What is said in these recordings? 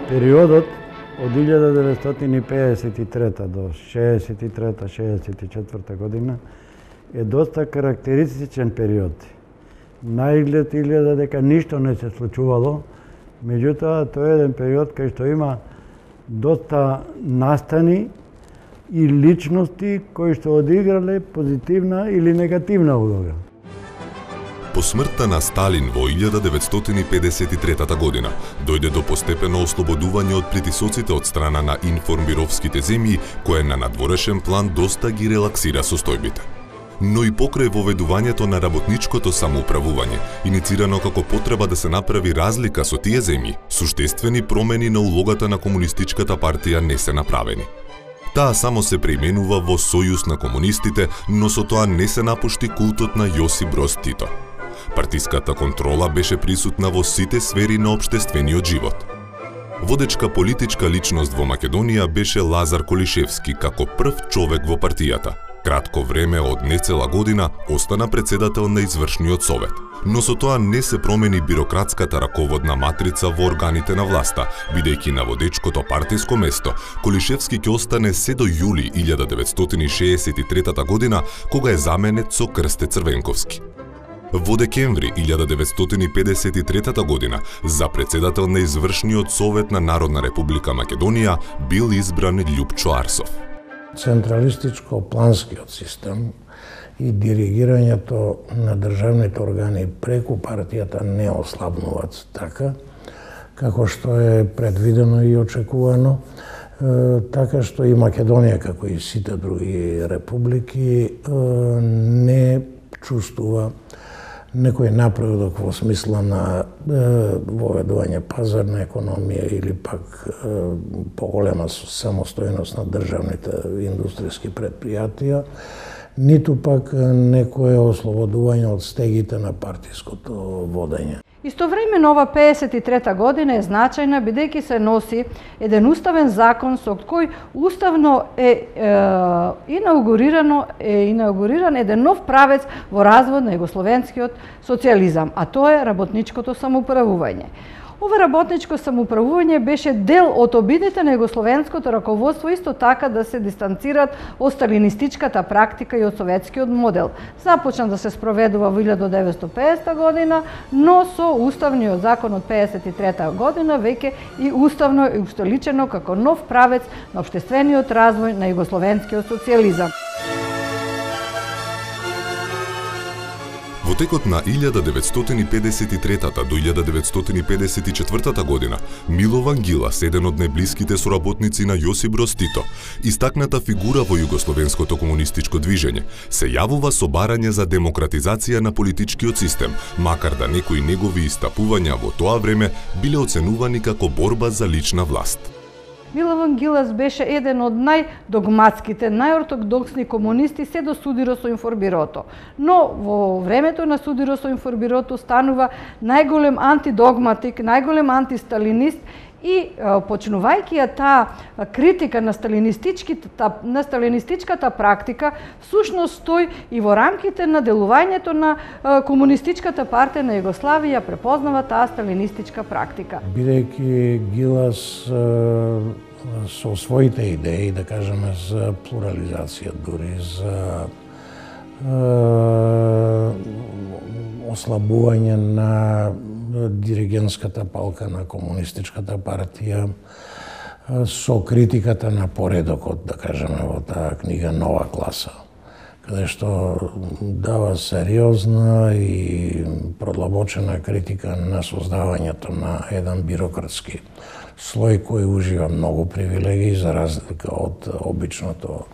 Периодот од 1953 до 63-64 година е доста карактеристичен период. Наизглед изгледа дека ништо не се случувало, меѓутоа тоа е еден период кај што има доста настани и личности кои што одиграле позитивна или негативна улога. По смртта на Сталин во 1953 година дојде до постепено ослободување од притисоците од страна на информбировските земји, кое на надворешен план доста ги релаксира состојбите. Но и покрај воведувањето на работничкото самоуправување, иницирано како потреба да се направи разлика со тие земји, суштествени промени на улогата на комунистичката партија не се направени. Таа само се преименува во Сојуз на комунистите, но со тоа не се напушти култот на Јосип Броз Тито. Партиската контрола беше присутна во сите сфери на општествениот живот. Водечка политичка личност во Македонија беше Лазар Колишевски како прв човек во партијата. Кратко време од нецела година остана председател на извршниот совет. Но со тоа не се промени бирократската раководна матрица во органите на власта, бидејќи на водечкото партиско место Колишевски ќе остане се до јули 1963 година, кога е заменет со Крсте Црвенковски. Во декември 1953 година за председател на извршниот совет на Народна република Македонија бил избран Љупчо Арсов. Централистичко-планскиот систем и диригирањето на државните органи преку партијата не ослабнуваат така, како што е предвидено и очекувано, така што и Македонија, како и сите други републики, не чувствува некој напредок во смисла на воведување пазарна економија или пак поголема самостојност на државните индустријски предпријатија, ниту пак некое ослободување од стегите на партиското водење. Истовремено ова 53-та година е значајна бидејќи се носи еден уставен закон со кој уставно е инаугуриран еден нов правец во развој на југословенскиот социјализам, а тоа е работничкото самоуправување. Ова работничко самоуправување беше дел од обидите на југословенското раководство исто така да се дистанцираат од сталинистичката практика и од советскиот модел. Започна да се спроведува во 1950 година, но со уставниот закон од 1953 година веќе и уставно е устоличено како нов правец на општествениот развој на југословенскиот социјализам. Во текот на 1953 до 1954 година, Милован Ѓилас, еден од најблиските соработници на Јосип Броз Тито, истакната фигура во југословенското комунистичко движење, се јавува со барање за демократизација на политичкиот систем, макар да некои негови истапувања во тоа време биле оценувани како борба за лична власт. Милован Ѓилас беше еден од најдогматските, најортодоксни комунисти се до Судиро со информбирото. Но во времето на Судиро со информбирото станува најголем антидогматик, најголем антисталинист и почнувајќи ја таа критика на сталинистичката практика, всушност тој и во рамките на делувањето на комунистичката партија на Југославија препознава таа сталинистичка практика. Бидејќи Ѓилас со своите идеи, да кажеме, за плурализација, дури за ослабување на диригентската палка на комунистичката партија, со критиката на поредокот, да кажеме, во таа книга Нова класа, каде што дава сериозна и продлабочена критика на создавањето на еден бирократски слој кој ужива многу привилегии за разлика од обичното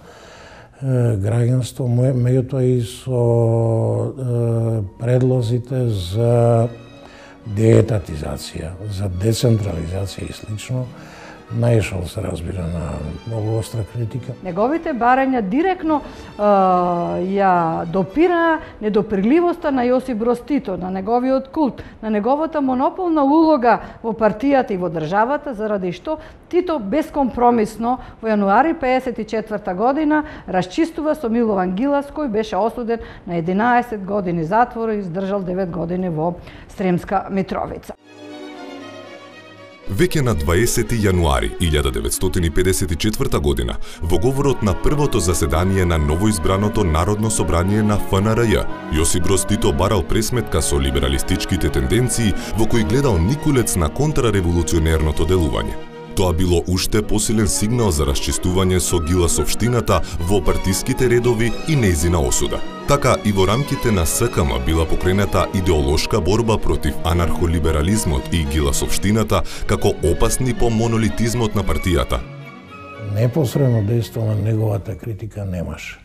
граѓанство, меѓутоа и со предлозите за деетатизација, за децентрализација и слично, наишол се разбира на многу остра критика. Неговите барања директно ја допира недопирливоста на Јосип Броз Тито, на неговиот култ, на неговата монополна улога во партијата и во државата, заради што Тито бескомпромисно во јануари 1954 година расчистува со Милован Ѓилас, кој беше осуден на 11 години затвор и издржал 9 години во Сремска Митровица. Веќе на 20 јануари 1954 година, во говорот на првото заседание на новоизбраното Народно собрание на ФНРЈ, Јосип Броз Тито барал пресметка со либералистичките тенденции во кои гледал никулец на контрареволуционерното делување. Тоа било уште посилен сигнал за расчистување со гиласовштината во партиските редови и нејзина осуда. Така и во рамките на СКМ била покрената идеолошка борба против анархолиберализмот и гиласовштината како опасни по монолитизмот на партијата. Непосредно дејство на неговата критика немаше.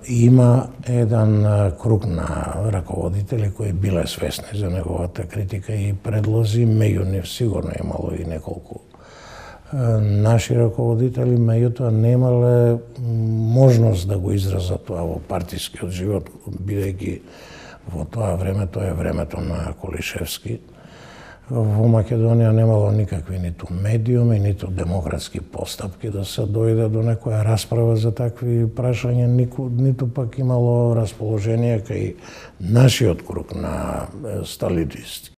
Има еден круг на раководители кои биле свесни за неговата критика и предлози, меѓу нив сигурно имало и неколку наши раководители, меѓутоа немале можност да го изразат тоа во партискиот живот, бидејќи во тоа време, тоа е времето на Колишевски, во Македонија немало никакви ниту медиуми, ниту демократски постапки да се дојде до некоја расправа за такви прашања, ниту пак имало расположение кај нашиот круг на сталинисти.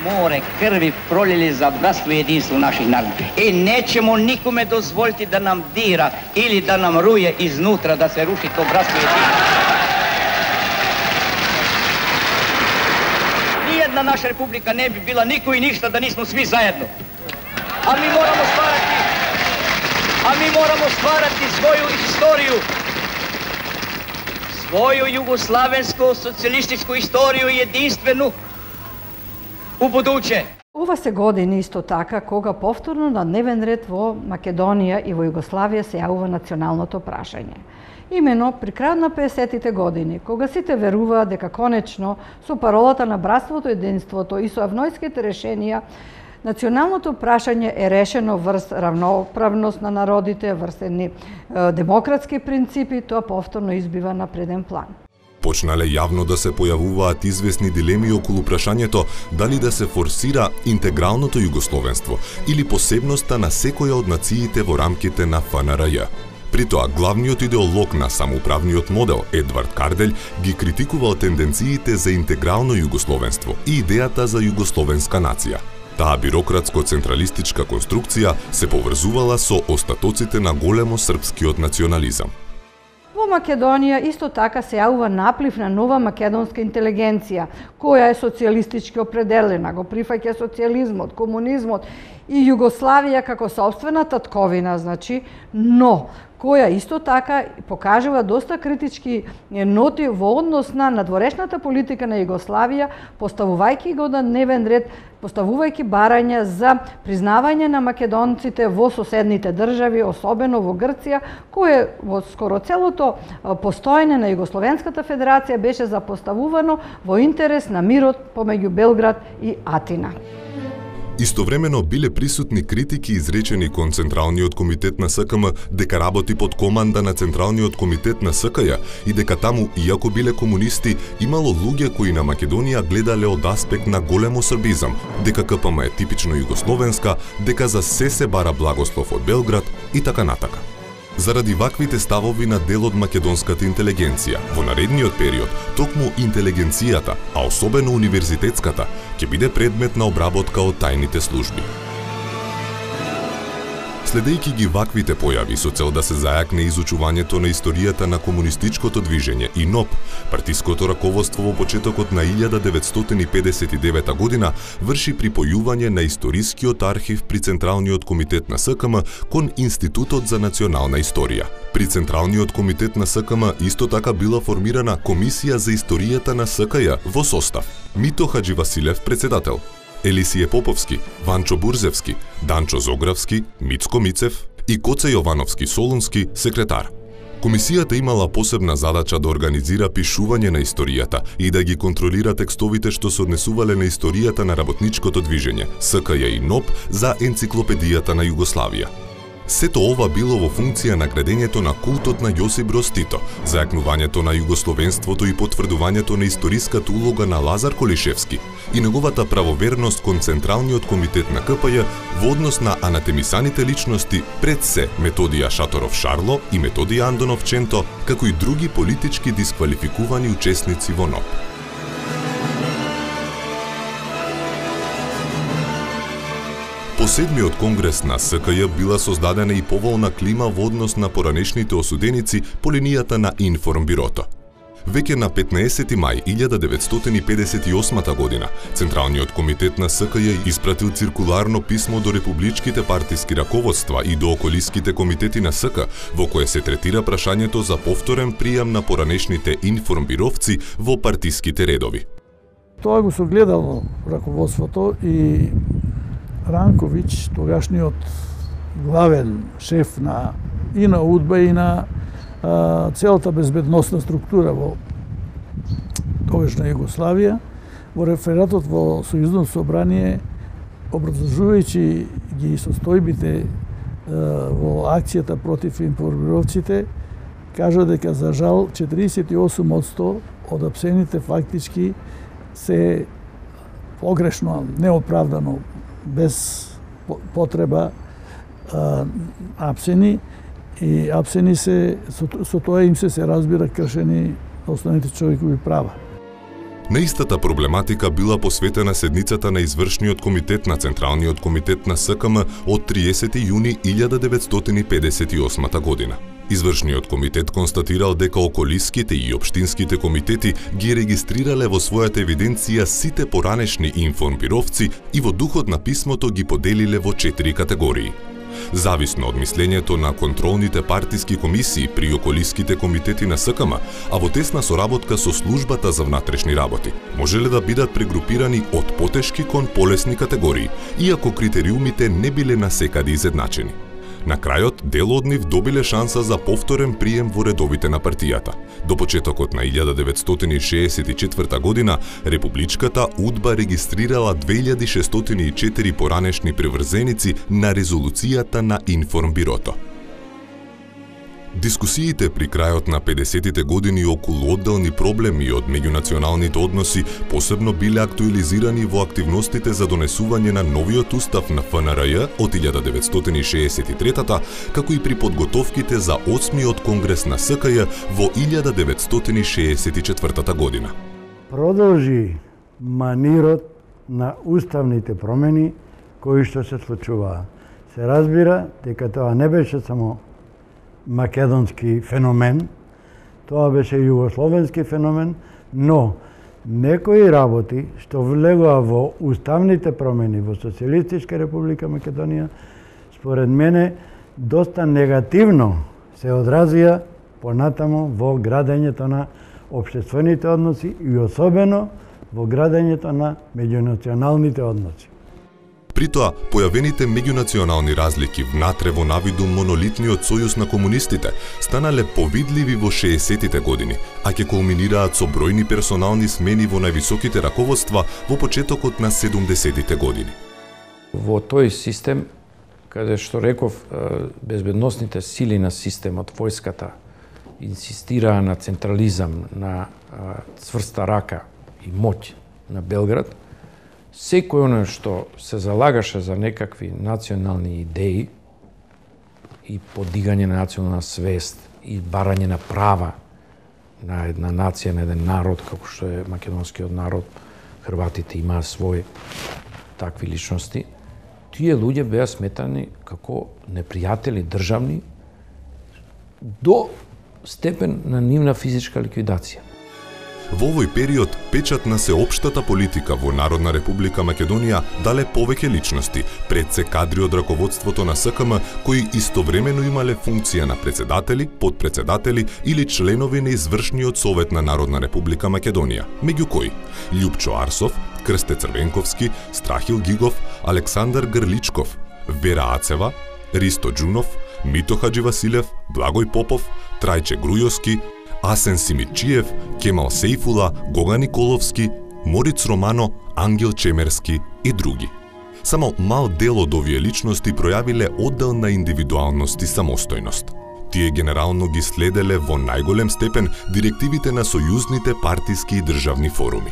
Море крви пролили за братство и единство наших народа. И неćemo никоме дозволити да нам дира или да нам руе изнутра да се руши то братство и единство. Ниједна наша република не би била никој и ништа да нисмо сви заедно. А ми морамо стварати своју исторiju. Своју југославенско социјалистичку исторiju единствenu у будуće. Ова се години исто така кога повторно на дневен ред во Македонија и во Југославија се јавува националното прашање. Имено при крајот на 50-тите години, кога сите веруваат дека конечно со паролата на братството и единството и со авнојските решенија, националното прашање е решено врз равноправност на народите, врз едни демократски принципи, тоа повторно избива на преден план. Почнале јавно да се појавуваат известни дилеми околу прашањето дали да се форсира интегралното југословенство или посебноста на секоја од нациите во рамките на ФНРЈ. При тоа, главниот идеолог на самоуправниот модел, Едвард Карделј, ги критикувал тенденциите за интегрално југословенство и идејата за југословенска нација. Таа бирократско-централистичка конструкција се поврзувала со остатоците на големо српскиот национализам. Во Македонија исто така се јавува наплив на нова македонска интелигенција, која е социјалистички определена, го прифаќа социјализмот, комунизмот и Југославија како сопствена татковина, значи, но која исто така покажува доста критички ноти во однос на надворешната политика на Југославија, поставувајќи го на дневен ред, поставувајќи барања за признавање на македонците во соседните држави, особено во Грција, кое во скоро целото постоење на Југословенската федерација беше запоставувано во интерес на мирот помеѓу Белград и Атина. Истовремено биле присутни критики изречени кон Централниот комитет на СКМ дека работи под команда на Централниот комитет на СКЈ и дека таму, иако биле комунисти, имало луѓе кои на Македонија гледале од аспект на големо србизам, дека КПМ е типично југословенска, дека за се бара благослов од Белград и така натака. Заради ваквите ставови на дел од македонската интелигенција, во наредниот период, токму интелигенцијата, а особено универзитетската, ќе биде предмет на обработка од тајните служби. Следејќи ги ваквите појави со цел да се зајакне изучувањето на историјата на комунистичкото движење и НОП, партиското раководство во почетокот на 1959 година врши припојување на историскиот архив при Централниот комитет на СКМ кон Институтот за национална историја. При Централниот комитет на СКМ исто така била формирана Комисија за историјата на СКЈ во состав Мито Хадживасилев председател, Елисије Поповски, Ванчо Бурзевски, Данчо Зогравски, Мицко Мицев и Коце Јовановски Солунски секретар. Комисијата имала посебна задача да организира пишување на историјата и да ги контролира текстовите што се однесувале на историјата на работничкото движење, СКЈ и НОП за енциклопедијата на Југославија. Сето ова било во функција на градењето на култот на Јосип Броз Тито, зајакнувањето на југословенството и потврдувањето на историската улога на Лазар Колишевски и неговата правоверност кон Централниот комитет на КПЈ во однос на анатемисаните личности пред се Методија Шаторов Шарло и Методија Андонов Ченто, како и други политички дисквалификувани учесници во НОП. По седмиот конгрес на СКЈ била создадена и поволна клима во однос на поранешните осуденици по линијата на Информбирото. Веќе на 15 мај 1958 година, Централниот комитет на СКЈ испратил циркуларно писмо до републичките партиски раководства и до околиските комитети на СК, во кое се третира прашањето за повторен пријам на поранешните информбировци во партиските редови. Тоа го согледало раководството и Ранковиќ, тогашниот главен шеф и на УДБА и на целата безбедносна структура во тогашна Југославија, во рефератот во Сојузното собрание, образложувајќи ги состојбите во акцијата против информировците, кажа дека за жал 48% од апсените фактички се погрешно, неоправдано, без потреба апсени, и апсени се, со тоа им се разбира кршени основните човекови права. На истата проблематика била посветена седницата на извршниот комитет на Централниот комитет на СКМ од 30 јуни 1958 година. Извршниот комитет констатирал дека околиските и општинските комитети ги регистрирале во својата евиденција сите поранешни информбировци и во духот на писмото ги поделиле во 4 категории. Зависно од мислењето на контролните партиски комисии при околиските комитети на СКМ, а во тесна соработка со службата за внатрешни работи, можеле да бидат прегрупирани од потешки кон полесни категории, иако критериумите не биле насекаде изедначени. На крајот, дел од нив добиле шанса за повторен прием во редовите на партијата. До почетокот на 1964 година, Републичката УДБА регистрирала 2604 поранешни приврзеници на резолуцијата на Информбирото. Дискусиите при крајот на 50-тите години околу одделни проблеми од меѓунационалните односи посебно биле актуализирани во активностите за донесување на новиот устав на ФНРЈ од 1963-та, како и при подготовките за 8-миот конгрес на СКЈ во 1964 година. Продолжи манирот на уставните промени кои што се случуваа. Се разбира дека тоа не беше само македонски феномен, тоа беше југословенски феномен, но некои работи што влегоа во уставните промени во Социјалистичка република Македонија, според мене, доста негативно се одразија понатаму во градењето на општествените односи и особено во градењето на меѓунационалните односи. При тоа, појавените меѓунационални разлики внатре во навиду монолитниот сојуз на комунистите станале повидливи во 60-тите години, а ќе кулминираат со бројни персонални смени во највисоките раководства во почетокот на 70-тите години. Во тој систем, каде што реков, безбедносните сили на системот, војската, инсистираа на централизам, на цврста рака и моќ на Белград, секој оно што се залагаше за некакви национални идеи и подигање на национална свест и барање на права на една нација, на еден народ, како што е македонскиот народ, хрватите имаа свој такви личности, тие луѓе беа сметани како непријатели државни до степен на нивна физичка ликвидација. Во овој период, печат на сеопштата политика во Народна република Македонија дале повеќе личности, пред се кадри од раководството на СКМ, кои истовремено имале функција на председатели, подпредседатели или членови на извршниот совет на Народна република Македонија, меѓу кои Љупчо Арсов, Крсте Црвенковски, Страхил Гигов, Александар Грличков, Вера Ацева, Ристо Џунов, Мито Хаџивасилев, Благој Попов, Трајче Грујовски, Асен Симидчиев, Кемал Сейфула, Гога Николовски, Мориц Романо, Ангел Чемерски и други. Само мал дел од овие личности пројавиле одделна индивидуалност и самостојност. Тие генерално ги следеле во најголем степен директивите на сојузните партиски и државни форуми.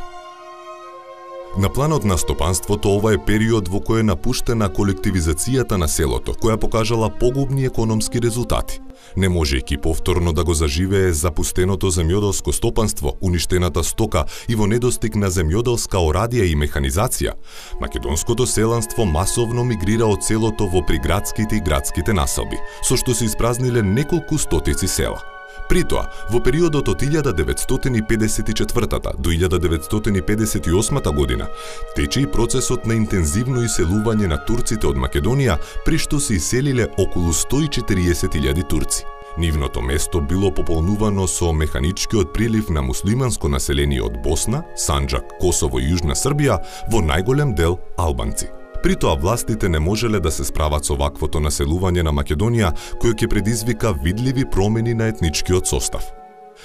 На планот на стопанството ова е период во кој е напуштена колективизацијата на селото, која покажала погубни економски резултати. Не можејќи повторно да го заживее запустеното земјоделско стопанство, уништената стока и во недостиг на земјоделска орадија и механизација, македонското селанство масовно мигрира од селото во приградските и градските населби, со што се испразниле неколку стотици села. При тоа, во периодот од 1954 до 1958 година, тече и процесот на интензивно иселување на турците од Македонија, при што се иселиле околу 140.000 турци. Нивното место било пополнувано со механичкиот прилив на муслиманско население од Босна, Санџак, Косово и Јужна Србија, во најголем дел албанци. При тоа властите не можеле да се справат со ваквото населување на Македонија, кој ќе предизвика видливи промени на етничкиот состав.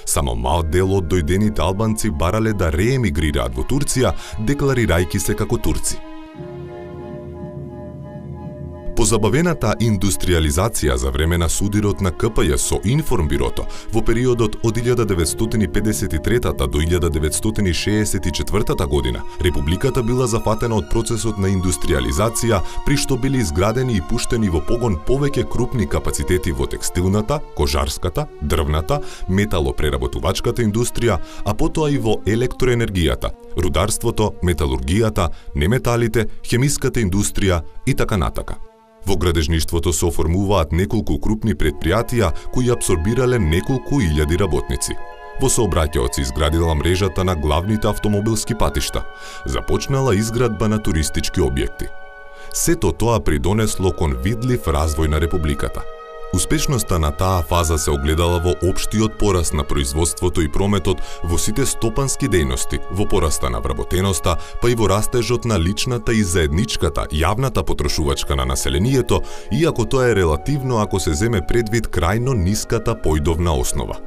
Само мал дел од дојдените албанци барале да реемигрираат во Турција, декларирајќи се како турци. Позабавената индустриализација за време на судирот на КПЈ со Информбирото во периодот од 1953 до 1964 година, Републиката била зафатена од процесот на индустриализација, при што били изградени и пуштени во погон повеќе крупни капацитети во текстилната, кожарската, дрвната, металопреработувачката индустрија, а потоа и во електроенергијата, рударството, металургијата, неметалите, хемиската индустрија и така натака. Во градежништвото се оформуваат неколку крупни предпријатија кои апсорбирале неколку илјади работници. Во сообраќајот се изградила мрежата на главните автомобилски патишта, започнала изградба на туристички објекти. Сето тоа придонесло кон видлив развој на Републиката. Успешноста на таа фаза се огледала во општиот пораст на производството и прометот во сите стопански дејности, во пораста на вработеноста, па и во растежот на личната и заедничката, јавната потрошувачка на населението, иако тоа е релативно ако се земе предвид крајно ниската појдовна основа.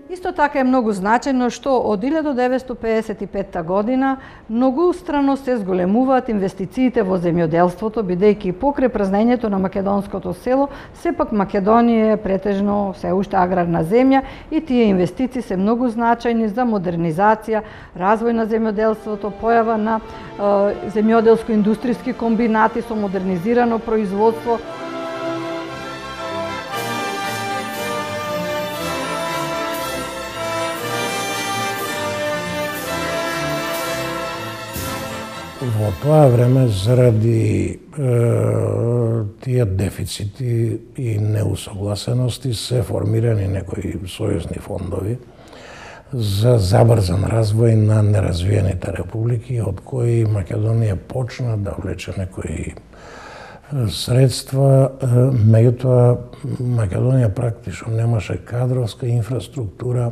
Исто така е многу значено што од 1955 година многустрано се зголемуваат инвестициите во земјоделството, бидејќи покрај празнењето на македонското село, сепак Македонија е претежно се уште аграрна земја и тие инвестиции се многу значајни за модернизација, развој на земјоделството, појава на земјоделско-индустријски комбинати со модернизирано производство. Во тоа време, заради тие дефицити и неусогласености, се формирани некои сојузни фондови за забрзан развој на неразвиените републики, од кои Македонија почна да влече некои средства, меѓутоа Македонија практично немаше кадровска инфраструктура,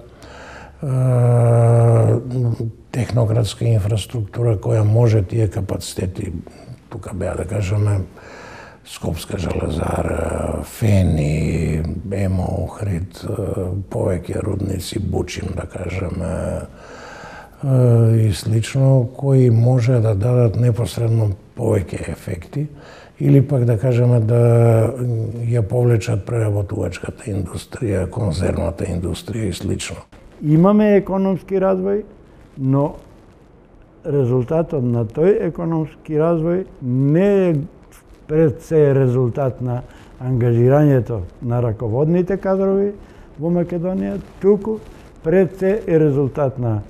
технократска инфраструктура која може тие капацитети, тука беа да кажеме Скопска железара, Фени, Емо, Охрид, повеќе рудници, Бучим да кажеме и слично, кои може да дадат непосредно повеќе ефекти или пак да кажеме да ја повлечат преработувачката индустрија, конзервната индустрија и слично. Имаме економски развој, но резултатот на тој економски развој не е пред се резултат на ангажирањето на раководните кадрови во Македонија, туку пред се е резултат на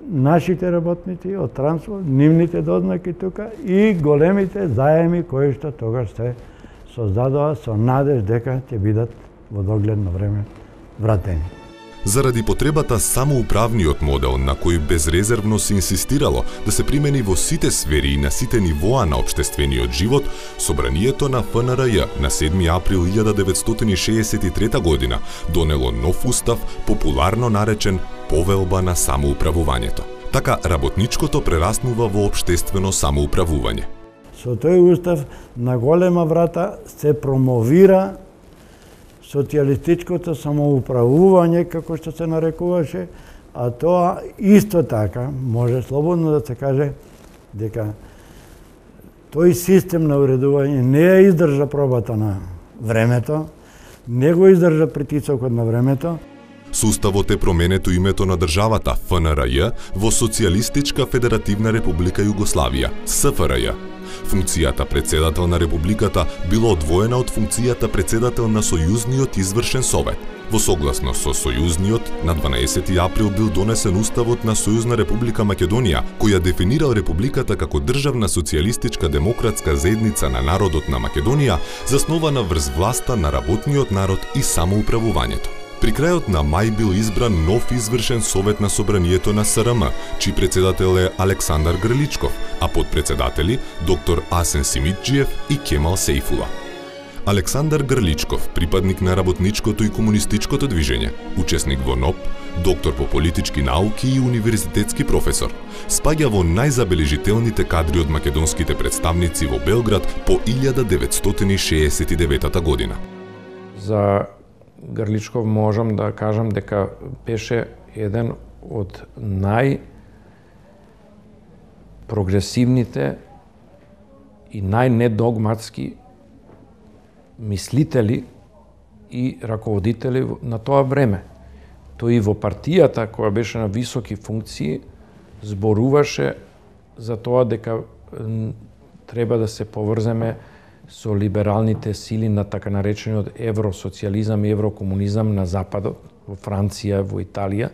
нашите работници од транспорт, нивните дознаки тука и големите заеми кои што тогаш се создадоа со надеж дека ќе бидат во догледно време вратени. Заради потребата самоуправниот модел на кој безрезервно се инсистирало да се примени во сите сфери и на сите нивоа на општествениот живот, Собранието на ФНРЈ на 7 април 1963 година донело нов устав, популарно наречен Повелба на самоуправувањето. Така работничкото прераснува во општествено самоуправување. Со тој устав на голема врата се промовира социјалистичкото самоуправување, како што се нарекуваше, а тоа исто така може слободно да се каже дека тој систем на уредување не ја издржа пробата на времето, не го издржа притисокот на времето. Со уставот е променето името на државата ФНРЈ во Социјалистичка Федеративна Република Југославија, СФРЈ. Функцијата председател на републиката била одвоена од функцијата председател на Сојузниот извршен совет. Во согласност со Сојузниот, на 12 април бил донесен уставот на Сојузна република Македонија, која дефинирал републиката како државна социјалистичка демократска заедница на народот на Македонија, заснована врз власта на работниот народ и самоуправувањето. При крајот на мај бил избран нов извршен совет на собранието на СРМ, чиј председател е Александар Грличков, а подпредседатели доктор Асен Симиджиев и Кемал Сейфула. Александар Грличков, припадник на работничкото и комунистичкото движење, учесник во НОП, доктор по политички науки и универзитетски професор, спаѓа во најзабележителните кадри од македонските представници во Белград по 1969 година. За Грличков можам да кажам дека беше еден од најпрогресивните и најнедогматски мислители и раководители на тоа време. Тој и во партијата, која беше на високи функции, зборуваше за тоа дека треба да се поврземе со либералните сили на така наречениот евросоциализам и еврокомунизам на Западот, во Франција, во Италија,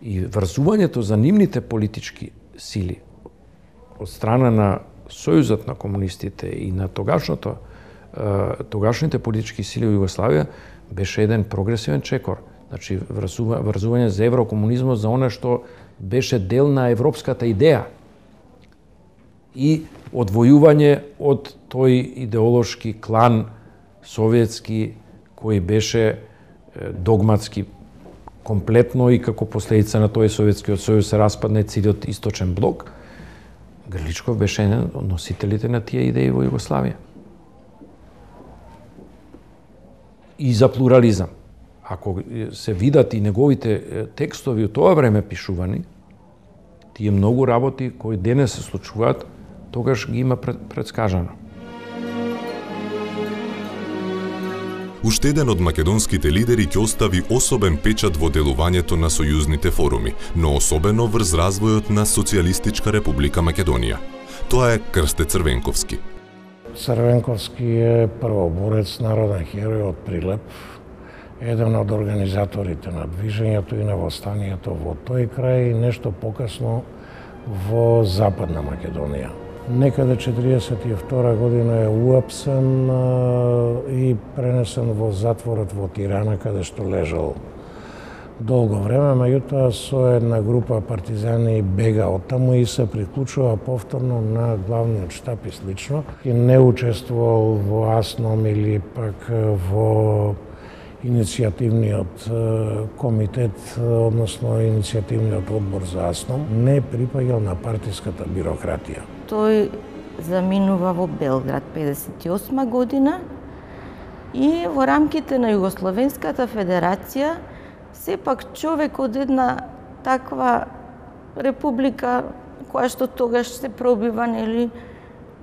и врзувањето за нивните политички сили од страна на Сојузот на комунистите и на тогашните политички сили во Југославија беше еден прогресивен чекор. Значи, врзување за еврокомунизмот, за она што беше дел на европската идеја и одвојување од тој идеолошки клан советски кој беше догматски комплетно и како последица на тој Советскиот сојуз се распадна целиот источен блок. Грличков беше еден од носителите на тие идеи во Југославија. И за плурализам. Ако се видат и неговите текстови од тоа време пишувани, тие многу работи кои денес се случуваат, тогаш ги има предскажано. Уште еден од македонските лидери ќе остави особен печат во делувањето на сојузните форуми, но особено врз развојот на Социјалистичка република Македонија. Тоа е Крсте Црвенковски. Црвенковски е првоборец, народен херој од Прилеп, еден од организаторите на движењето и на востанието во тој крај и нешто покасно во Западна Македонија. Некаде 1942 година е уапсен и пренесен во затворот во Тирана, каде што лежал долго време, меѓутоа со една група партизани бега оттаму и се приклучува повторно на главниот штаб и слично. И не учествувал во АСНОМ или пак во иницијативниот комитет, односно иницијативниот одбор за АСНОМ, не припаѓал на партиската бирократија. Тој заминува во Белград 1958 година и во рамките на Југословенската федерација сепак човек од една таква република која што тогаш се пробива, нели,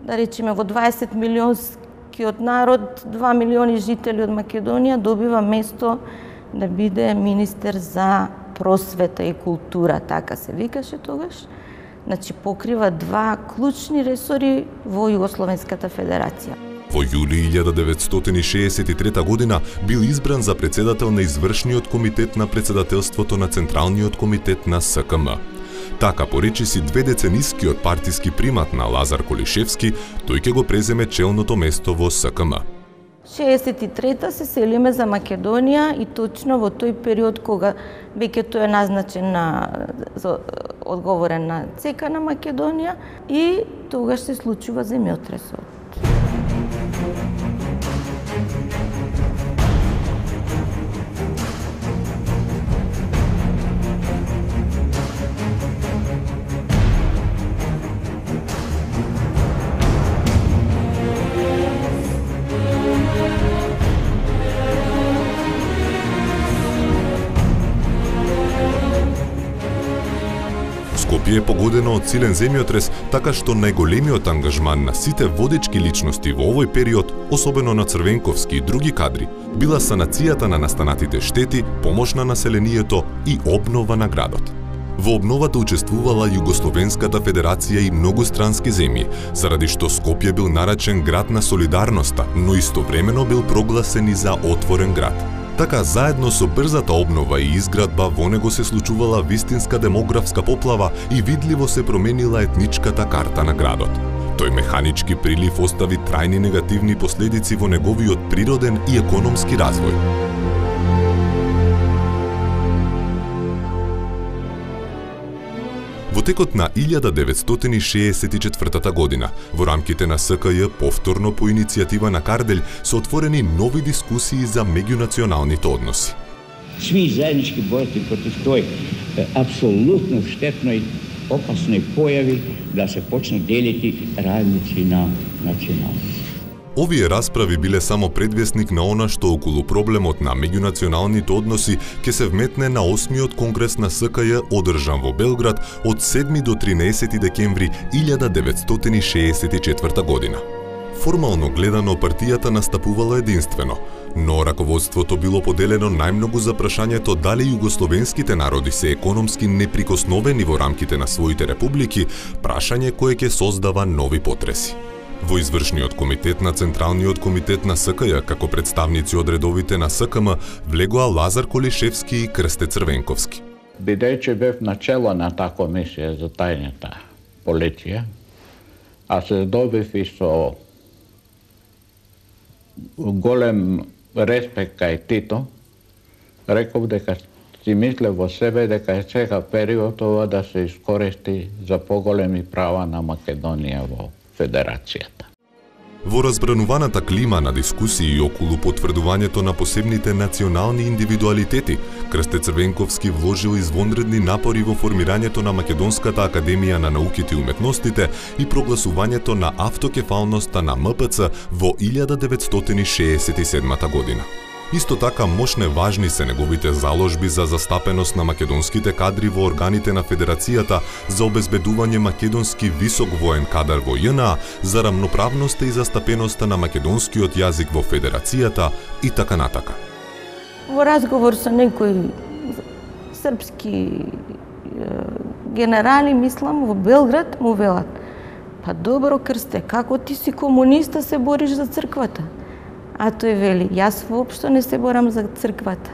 да речеме во 20 милионскиот народ, 2 милиони жители од Македонија, добива место да биде министер за просвета и култура, така се викаше тогаш. Значи покрива два клучни ресори во Југословенската федерација. Во јули 1963 година бил избран за председател на извршниот комитет на председателството на Централниот комитет на СКМ. Така поречиси 2 деценискиот партиски примат на Лазар Колишевски, тој ќе го преземе челното место во СКМ. 63-та се селиме за Македонија и точно во тој период кога веќе тој е назначен одговорен на ЦК на Македонија и тогаш се случува земјотресот. Скопје подруčje je pogodeno од силен земјотрес, така што најголемиот ангажман на сите водечки личности во овој период, особено на Црвенковски и други кадри, била санацијата на настанатите штети, помош на населението и обнова на градот. Во обновата учествувала Југословенската федерација и многострански земји, заради што Скопје бил наречен град на солидарноста, но истовремено бил прогласен и за отворен град. Така, заедно со брзата обнова и изградба, во него се случувала вистинска демографска поплава и видливо се променила етничката карта на градот. Тој механички прилив остави трајни негативни последици во неговиот природен и економски развој. Во текот на 1964 година, во рамките на СКЈ, повторно по иницијатива на Карделј, се отворени нови дискусии за меѓунационалните односи. Svi zajednički boriti protiv toj apsolutno štetnoj, opasnoj pojavi da se počnu dijeliti radnici na nacionalnosti. Овие расправи биле само предвестник на она што околу проблемот на меѓунационалните односи ќе се вметне на 8-миот конгрес на СКЈ одржан во Белград од 7 до 13 декември 1964 година. Формално гледано, партијата настапувала единствено, но раководството било поделено најмногу за прашањето дали југословенските народи се економски неприкосновени во рамките на своите републики, прашање кое ќе создава нови потреси. Во извршниот комитет на Централниот комитет на СКЈ, како представници од редовите на СКМ, влегоа Лазар Колишевски и Крсте Црвенковски. Бидејќи бев начело на таа комисија за тајната полиција, а се здобив и со голем респект кај Тито, реков дека си мислев во себе дека е сега период ова да се искористи за поголеми права на Македонија во Федерацијата. Во разбрануваната клима на дискусии околу потврдувањето на посебните национални индивидуалитети, Крсте Црвенковски вложил извонредни напори во формирањето на Македонската академија на науките и уметностите и прогласувањето на автокефалноста на МПЦ во 1967 година. Исто така мощне важни се неговите заложби за застапеност на македонските кадри во органите на Федерацијата, за обезбедување македонски висок воен кадар во ЈНА, за рамноправноста и застапеноста на македонскиот јазик во Федерацијата и така натака. Во разговор со некои српски генерали, мислам, во Белград, му велат: па добро, Крсте, како ти си комуниста се бориш за црквата? А тој вели: јас воопшто не се борам за црквата.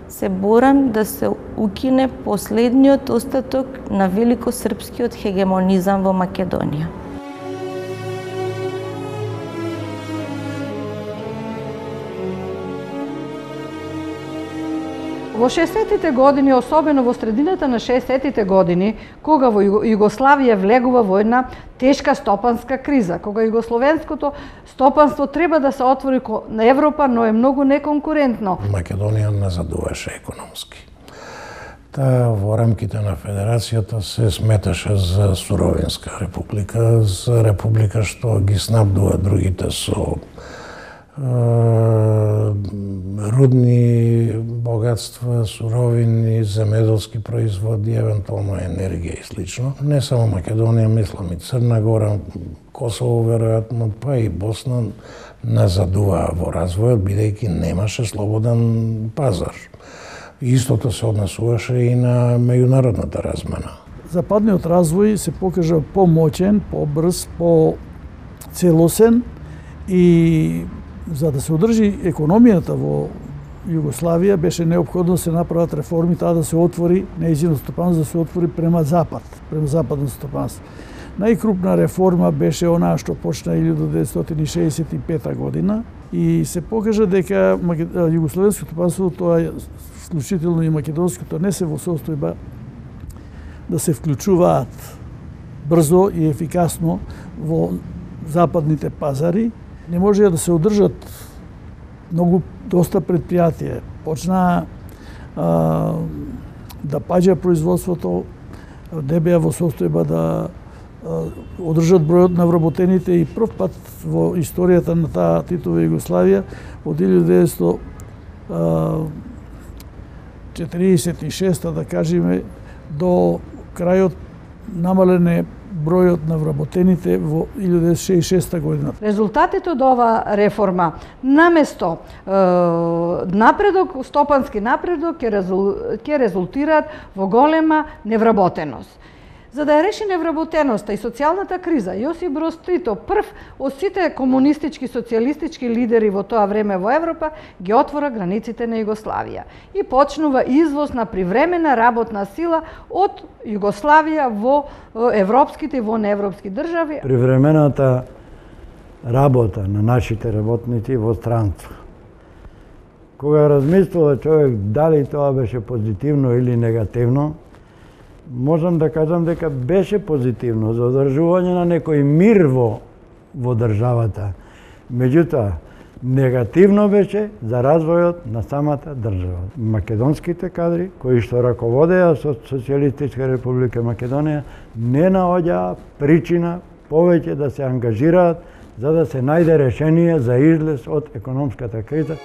Се борам да се укине последниот остаток на великосрпскиот хегемонизам во Македонија. Во 60-тите години, особено во средината на 60-тите години, кога во Југославија влегува во една тешка стопанска криза, кога југословенското стопанство треба да се отвори на Европа, но е многу неконкурентно. Македонија назадуваше економски. Таа во рамките на Федерацијата се сметаше за суровинска република, за република што ги снабдува другите со рудни богатства, суровини, земеделски производи, евентуално енергија и слично. Не само Македонија, мислам и Црна Гора, Косово веројатно, па и Босна назадуваа во развојот, бидејќи немаше слободен пазар. Истото се однесуваше и на меѓународната размена. Западниот развој се покажа помоćен, побрз, поцелосен и за да се одржи економијата во Југославија беше неопходно да се направат реформи, таа да се отвори нејзино стопанство, да се отвори према запад, према западно стопанство. Најкрупна реформа беше онаа што почна 1965 година и се покажа дека југословенското стопанство, тоа вклучително и македонското, не се во состојба да се вклучуваат брзо и ефикасно во западните пазари. Не можеа да се одржат доста предпријатија. Почнаа да паѓа производството, не беа во состојба да одржат бројот на вработените и прв пат во историјата на таа Титова Југославија од 1946 да кажеме до крајот намален е бројот на вработените во 1966 година. Резултатите од ова реформа наместо напредок, стопански напредок ќе резултираат во голема невработеност. За да ја реши невработеноста и социјалната криза, Јосип Броз Тито, прв од сите комунистички социјалистички лидери во тоа време во Европа, ги отвора границите на Југославија и почнува извоз на привремена работна сила од Југославија во европските и во неевропски држави. Привремената работа на нашите работници во странство. Кога размислува човек дали тоа беше позитивно или негативно, можам да кажам дека беше позитивно за одржување на некој мир во државата. Меѓутоа, негативно беше за развојот на самата држава. Македонските кадри, кои што раководеа со Социјалистичка република Македонија, не наоѓаа причина повеќе да се ангажираат за да се најде решение за излез од економската криза.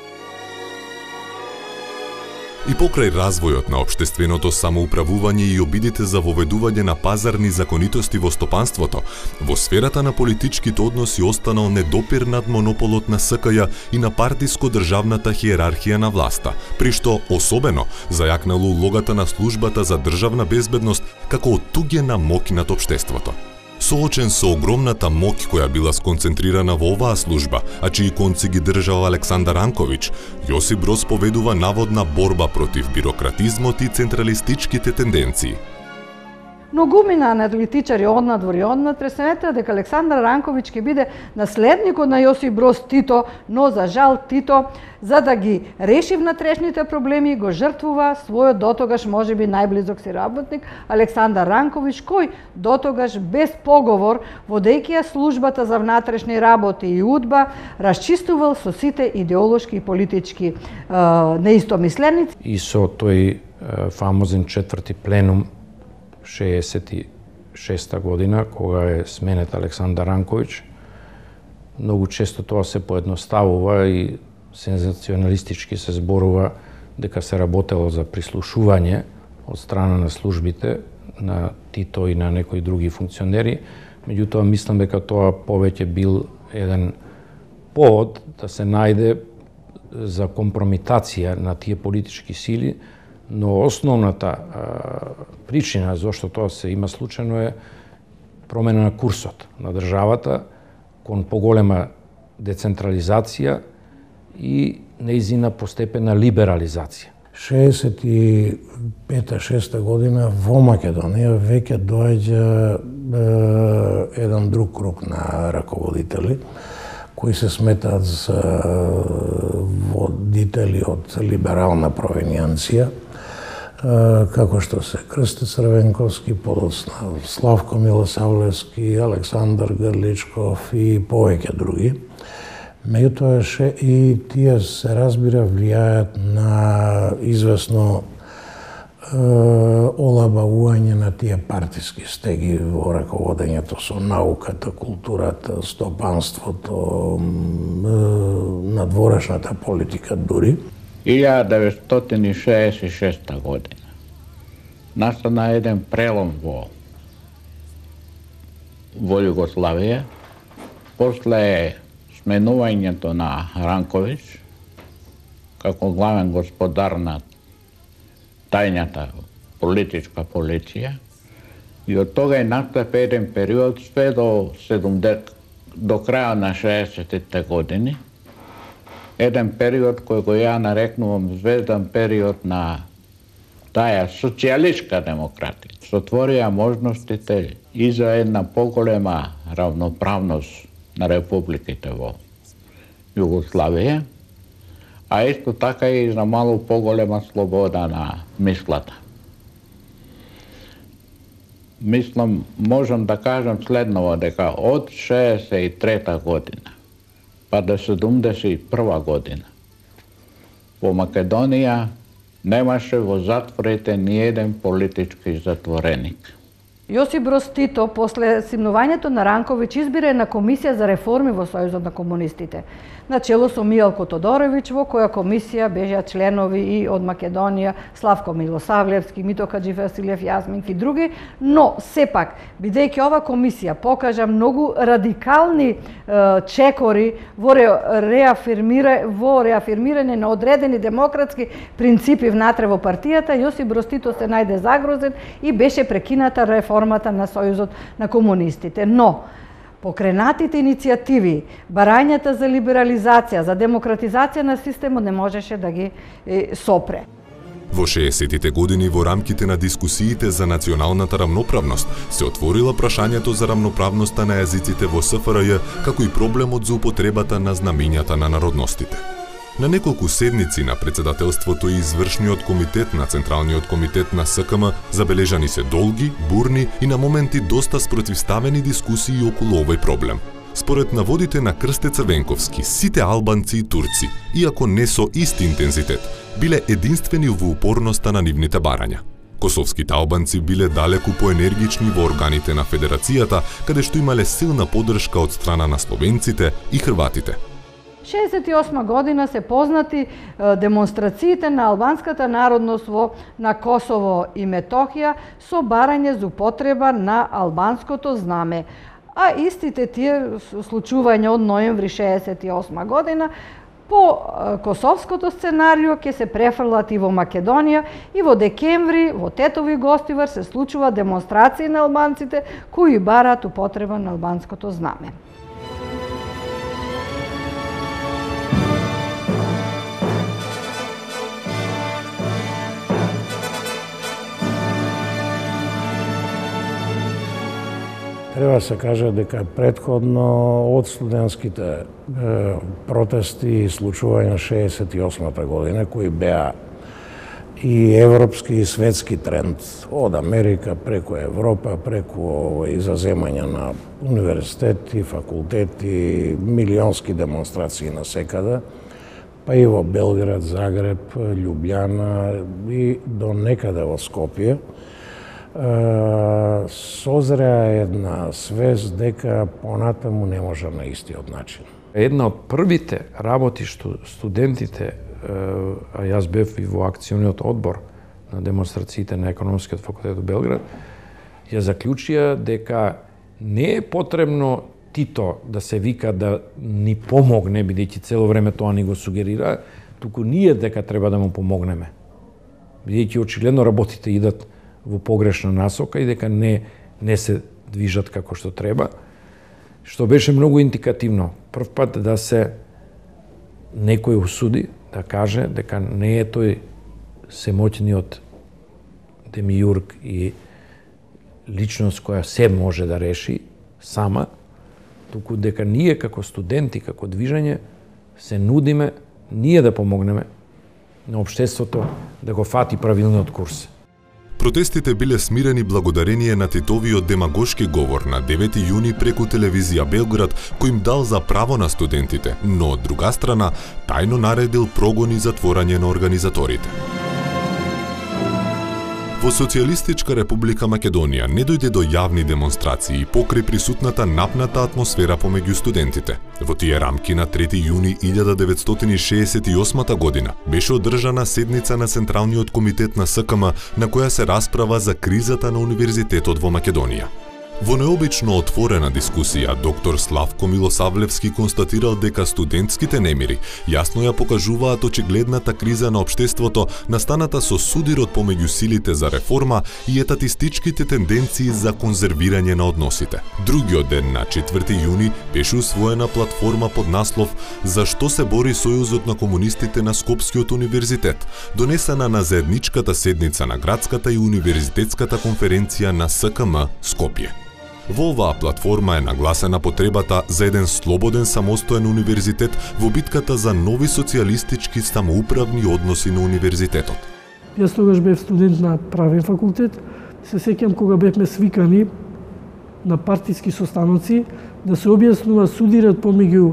И покрај развојот на општественото самоуправување и обидите за воведување на пазарни законитости во стопанството, во сферата на политичките односи останал недопирнат монополот на СКЈ и на партиско-државната хиерархија на власта, при што особено зајакнало улогата на службата за државна безбедност како оттуѓена моќ над општеството. Соочен со огромната моќ која била сконцентрирана во оваа служба, а чии конци ги држал Александар Ранковиќ, Јосип Броз поведува наводна борба против бирократизмот и централистичките тенденции. Многумина аналитичари однадвор и однад пресметаа дека Александар Ранковиќ ќе биде наследникот на Јосип Броз Тито, но за жал Тито, за да ги реши внатрешните проблеми, го жртвува својот дотогаш можеби најблизок си работник Александар Ранковиќ, кој дотогаш без поговор, водејќи ја службата за внатрешни работи и УДБА, расчистувал со сите идеолошки и политички неистомисленици. И со тој фамозен четврти пленум 66 година, кога е сменет Александар Ранковиќ, многу често тоа се поедноставува и сензационалистички се зборува дека се работело за прислушување од страна на службите на Тито и на некои други функционери, меѓутоа мислам дека тоа повеќе бил еден повод да се најде за компрометација на тие политички сили, но основната причина зашто тоа се има случајно е промена на курсот на државата кон поголема децентрализација и нејзина постепена либерализација. 65-6 година во Македонија веќе доаѓа еден друг круг на раководители кои се сметаат за водители од либерална провенијанција, како што се Крсте Црвенковски, подоцна Славко Милосавлевски, Александар Грличков и повеќе други. Меѓутоа и тие се разбира влијаат на известно олабавување на тие партиски стеги во раководењето со науката, културата, стопанството, надворешната политика дури. 1966 година настана еден прелом во Југославија после сменувањето на Ранковиќ како главен господар на тајната политичка полиција и од тога и настапи еден период све до крај на 60-тите години, еден период кој го ја нарекнувам звездан период на таа социјалистичка демократија. Се отворија можностите и за една поголема равноправност на републиките во Југославија, а исто така и за малку поголема слобода на мислата. Мислам, можам да кажам следново, дека од 63 година па до 71 година во Македонија немаше во затворите ни еден политички затвореник. Јосип Броз Тито, после симнувањето на Ранковиќ, избира една комисија за реформи во Сојузот на комунистите. На чело со Мијалко Тодоровиќ, во која комисија беа членови и од Македонија, Славко Милосавлевски, Мито Хаџивасилев, Јазминки и други, но сепак, бидејќи ова комисија покажа многу радикални чекори во реафирмирање на одредени демократски принципи внатре во партијата, Јосип Броз Тито се најде загрозен и беше прекината реформата на Сојузот на комунистите. Но, покренатите иницијативи, барањата за либерализација, за демократизација на системот не можеше да ги сопре. Во 60-тите години во рамките на дискусиите за националната рамноправност се отворила прашањето за рамноправноста на јазиците во СФРЈ, како и проблемот за употребата на знамињата на народностите. На неколку седници на председателството и извршниот комитет на Централниот комитет на СКМ забележани се долги, бурни и на моменти доста спротивставени дискусии околу овој проблем. Според наводите на Крсте Црвенковски, сите албанци и турци, иако не со ист интензитет, биле единствени во упорноста на нивните барања. Косовските албанци биле далеку поенергични во органите на Федерацијата, каде што имале силна поддршка од страна на словенците и хрватите. 68 година се познати демонстрациите на албанската народност на Косово и Метохија со барање за употреба на албанското знаме. А истите тие случувања од ноември 68 година по косовското сценарио ќе се префрлат и во Македонија и во декември во Тетови Гостивар се случува демонстрации на албанците кои бараат употреба на албанското знаме. Треба се каже дека претходно од студентските протести и случувања 68-та година, кои беа и европски и светски тренд, од Америка преку Европа, преку изаземање на универзитети, факултети, милионски демонстрации насекаде, па и во Белград, Загреб, Љубљана и до некаде во Скопје, созреа една свест дека понатаму не може на истиот начин. Една од првите работи што студентите, а јас бев и во акциониот одбор на демонстрациите на Економскиот факултет во Белград, ја заклучија дека не е потребно Тито да се вика да ни помогне, бидејќи цело време тоа ни го сугерира, туку ние дека треба да му помогнеме. Бидејќи очигледно работите идат во погрешна насока и дека не се движат како што треба, што беше многу индикативно. Прв пат да се некој осуди, да каже дека не е тој семоќниот демиург и личност која се може да реши сама, туку дека ние како студенти, како движење, се нудиме ние да помогнеме на општеството да го фати правилниот курс. Протестите биле смирени благодарение на Титовиот демагошки говор на 9 јуни преку телевизија Белград, кој им дал за право на студентите, но од друга страна тајно наредил прогон и затворање на организаторите. Во Социјалистичка република Македонија не дојде до јавни демонстрации покрај присутната напната атмосфера помеѓу студентите. Во тие рамки на 3 јуни 1968 година беше одржана седница на Централниот комитет на СКМ на која се расправа за кризата на универзитетот во Македонија. Во необично отворена дискусија, доктор Славко Милосавлевски констатирал дека студентските немири јасно ја покажуваат очигледната криза на општеството настаната со судирот помеѓу силите за реформа и етатистичките тенденции за конзервирање на односите. Другиот ден на 4 јуни беше усвоена платформа под наслов "За што се бори Сојузот на комунистите на Скопскиот универзитет", донесена на заедничката седница на градската и универзитетската конференција на СКМ Скопје. Во оваа платформа е нагласена потребата за еден слободен самостоен универзитет во битката за нови социјалистички самоуправни односи на универзитетот. Јас тогаш бев студент на правен факултет. Се сеќам кога бевме свикани на партиски состаноци да се објаснува судират помеѓу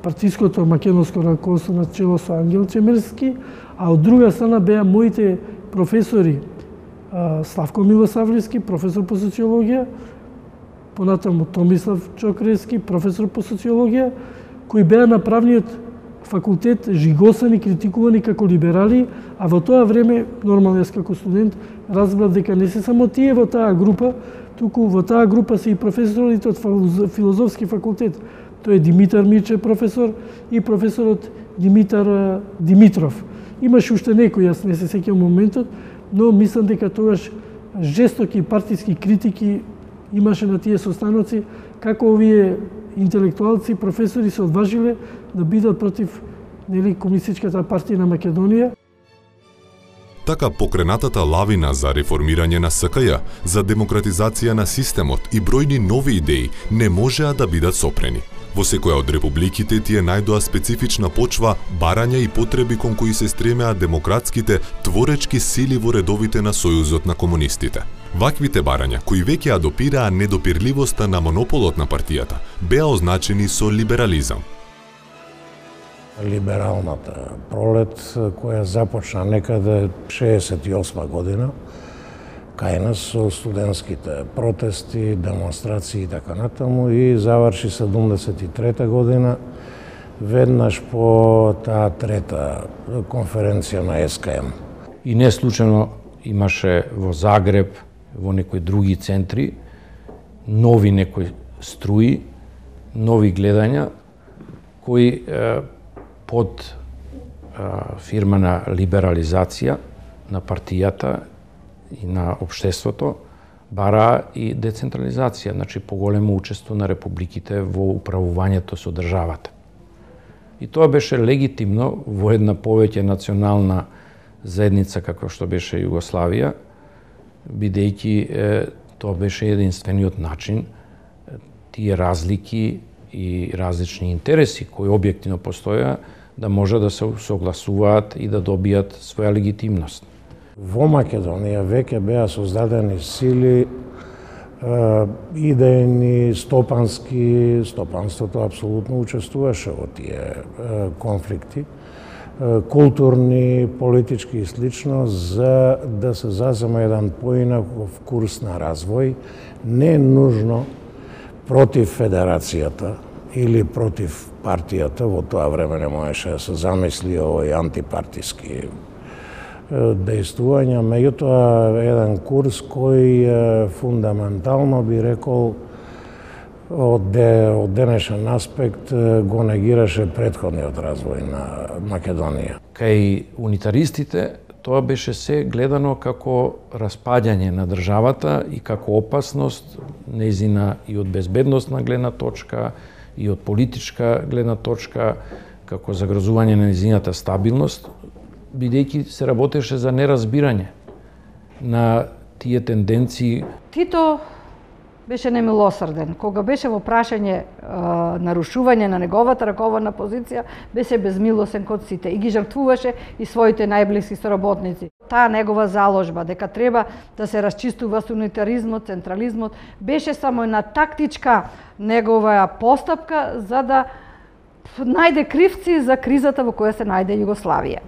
партиското македонско раководство на чело со Ангел Чемерски, а од друга страна беа моите професори Славко Милосавлевски, професор по социологија, понатаму Томислав Чокрески, професор по социологија, кои беа на правниот факултет жигосани, критикувани како либерали, а во тоа време, нормално јас како студент, разбрав дека не се само тие во таа група, туку во таа група се и професорите од филозофски факултет. Тој е Димитар Мирче професор и професорот Димитар Димитров. Имаше уште некои, јас не се сеќавам моментот, но мислам дека тогаш жестоки партиски критики имаше на тие состаноци, како овие интелектуалци, професори се одважиле да бидат против Комунистичката партија на Македонија. Така покренатата лавина за реформирање на СКЈ, за демократизација на системот и бројни нови идеи не можеа да бидат сопрени. Во секоја од републиките тие најдоа специфична почва, барања и потреби кон кои се стремеа демократските творечки сили во редовите на Сојузот на комунистите. Ваквите барања, кои веќе ја допираа недопирливоста на монополот на партијата, беа означени со либерализам. Либералната пролет, која започна некаде 68 година, кај нас со студентските протести, демонстрации и така натаму, и заврши 73 година, веднаш по таа трета конференција на СКМ. И не случајно имаше во Загреб, во некои други центри, нови некои струи, нови гледања, кои под фирма на либерализација на партијата и на општеството бараа и децентрализација, значи поголемо учество на републиките во управувањето со државата. И тоа беше легитимно во една повеќе национална заедница како што беше Југославија, бидејќи тоа беше единствениот начин тие разлики и различни интереси кои објективно постоја да може да се согласуваат и да добијат своја легитимност. Во Македонија веќе беа создадени сили идејни, стопански, стопанството апсолутно учествуваше во тие конфликти, културни, политички и слично, за да се зазема еден поинаков курс на развој, не нужно против федерацијата или против партијата, во тоа време не можеше да се замисли овој антипартиски дејствувања, меѓутоа еден курс кој фундаментално би рекол од денешен аспект го негираше претходниот развој на Македонија. Кај унитаристите тоа беше се гледано како распаѓање на државата и како опасност нејзина и од безбедносна гледна точка, и од политичка гледна точка, како загрозување на нејзината стабилност, бидејќи се работеше за неразбирање на тие тенденции. Тито беше немилосрден. Кога беше во прашање нарушување на неговата раководна позиција, беше безмилосен кон сите и ги жртвуваше и своите најблиски соработници. Таа негова заложба дека треба да се расчистува со унитаризмот, централизмот, беше само една тактичка негова постапка за да најде кривци за кризата во која се најде Југославија.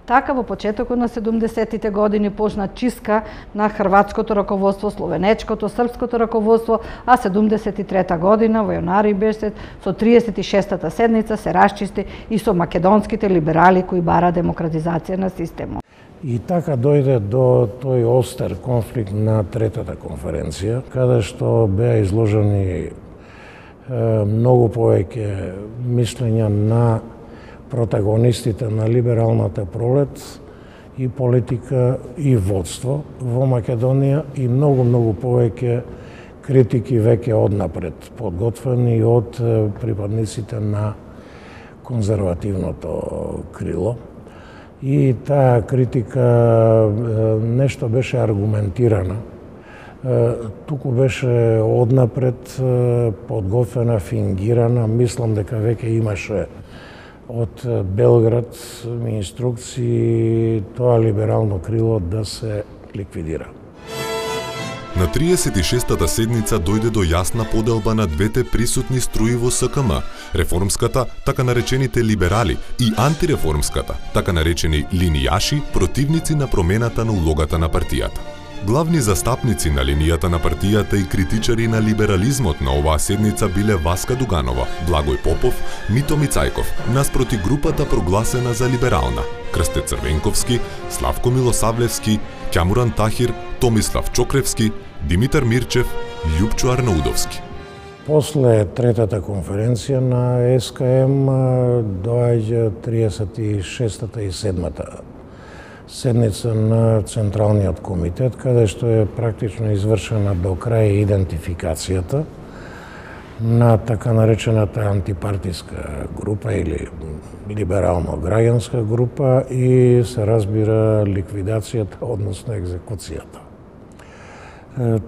Така, во почетокот на 70-тите години почна чистка на хрватското раководство, словенечкото, српското раководство, а 73-та година, во јанари беше, со 36-та седница се расчисти и со македонските либерали кои бара демократизација на системот. И така дојде до тој остер конфликт на третата конференција, каде што беа изложени многу повеќе мислења на протагонистите на либералната пролет и политика и водство во Македонија и многу повеќе критики веќе однапред подготвени од припадниците на конзервативното крило. И таа критика нешто беше аргументирана, туку беше однапред подготвена, фингирана, мислам дека веќе имаше од Белград инструкции тоа либерално крило да се ликвидира. На 36-та седница дојде до јасна поделба на двете присутни струи во СКМ, реформската, така наречените либерали, и антиреформската, така наречени линијаши, противници на промената на улогата на партијата. Главни застапници на линијата на партијата и критичари на либерализмот на оваа седница биле Васка Дуганова, Благој Попов, Мито Мицајков, наспроти групата прогласена за либерална, Крсте Црвенковски, Славко Милосавлевски, Ќамуран Тахир, Томислав Чокревски, Димитар Мирчев, Љупчо Арнаудовски. После третата конференција на СКМ доаѓа 36-та и 7-та седница на Централниот комитет, каде што е практично извршена до крај идентификацијата на така наречената антипартиска група или либерално-граѓанска група и се разбира ликвидацијата, односно екзекуцијата.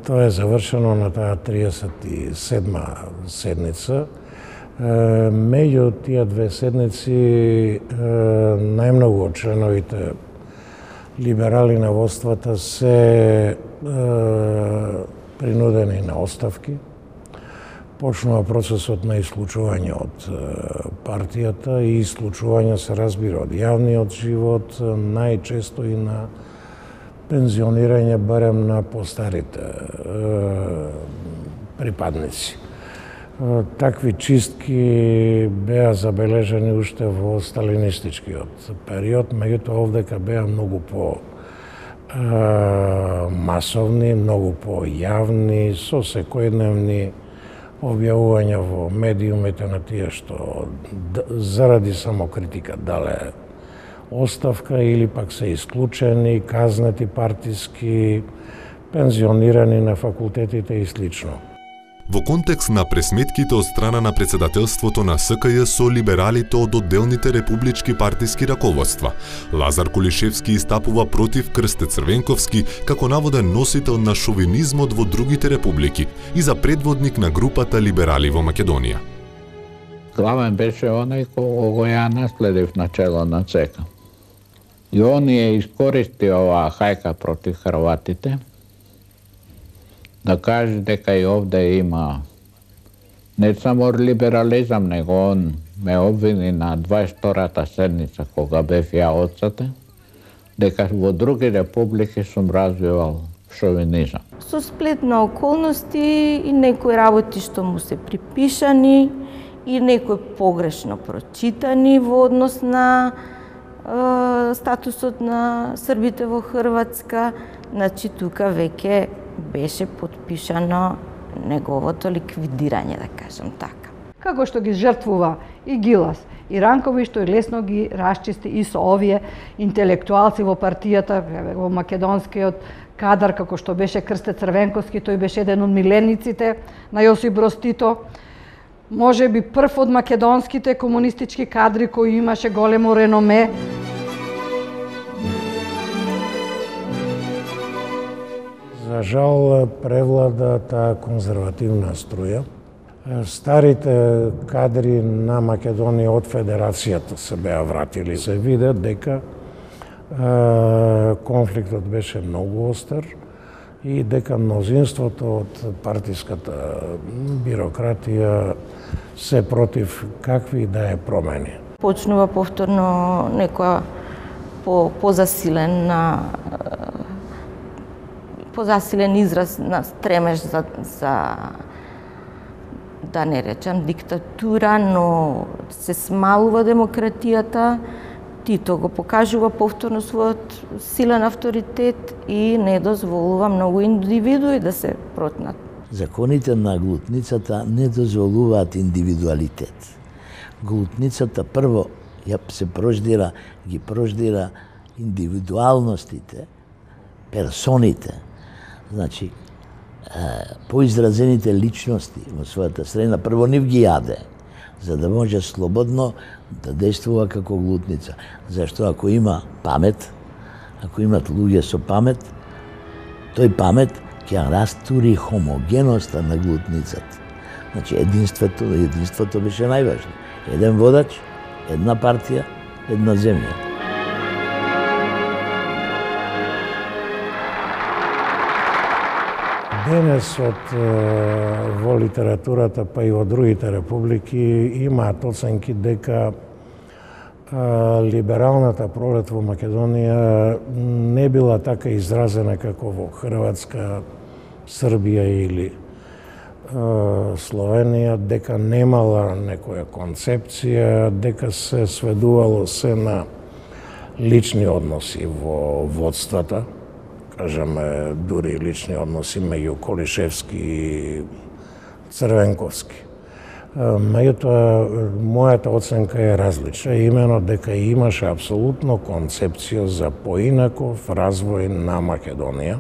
Тоа е завршено на таа 37-ма седница. Меѓу тие две седници најмногу од членовите либерали на водствата се принудени на оставки. Почнува процесот на исклучување од партијата и исклучување се разбира од јавниот живот, најчесто и на пензионирање барем на постарите припадници. Такви чистки беа забележани уште во сталинистичкиот период, меѓутоа овдека беа многу по масовни, многу по јавни, со секојдневни објавувања во медиумите на тие што заради самокритика дале оставка или пак се исклучени, казнети партиски, пензионирани на факултетите и слично. Во контекст на пресметките од страна на председателството на СКЈ со либералите од одделните републички партиски раководства, Лазар Кулишевски истапува против Крсте Црвенковски како наводен носител на шовинизмот во другите републики и за предводник на групата либерали во Македонија. Главен беше оној кој ја наследив начело на ЦК. И он ја искористи оваа хајка против хрватите, да каже дека и овде има не само либерализам, него он ме обвини на 22-та седница кога бев ја отсете, дека во други републики сум развивал шовинизам. Со сплет на околности и некои работи што му се припишани и некои погрешно прочитани во однос на статусот на србите во Хрватска, значи тука веќе беше подпишано неговото ликвидирање, да кажам така. Како што ги жртвува и Гилас, и Ранкови, што и лесно ги расчисти и со овие интелектуалци во партијата, во македонскиот кадар, како што беше Крсте Црвенковски, тој беше еден од милениците на Јосип Броз Тито, може би прв од македонските комунистички кадри кој имаше големо реноме. За жал превлада таа конзервативна струја. Старите кадри на Македонија од Федерацијата се беа вратили. Се виде дека конфликтот беше многу остар и дека мнозинството од партиската бирократија се против какви да е промени. Почнува повторно некоја позасилен израз на стремеж за да не речам диктатура, но се смалува демократијата. Тито го покажува повторно својот силен авторитет и не дозволува многу индивидуи да се протнат. Законите на глутницата не дозволуваат индивидуалитет. Глутницата прво ги прождира индивидуалностите, персоните, значи поизразените личности во својата средина, прво нив ги јаде, за да може слободно да действува како глутница. Зашто ако има памет, ако имат луѓе со памет, тој памет ќе растури хомогеноста на глутницата. Значи единството беше најважно. Еден водач, една партија, една земја. Денес во литературата, па и во другите републики, имаат оценки дека либералната пролет во Македонија не била така изразена како во Хрватска, Србија или Словенија, дека немала некоја концепција, дека се сведувало се на лични односи во водствата, кажеме дури лични односи меѓу Колишевски и Црвенковски. Меѓутоа, мојата оценка е различна, имено дека имаше апсолутно концепција за поинаков развој на Македонија,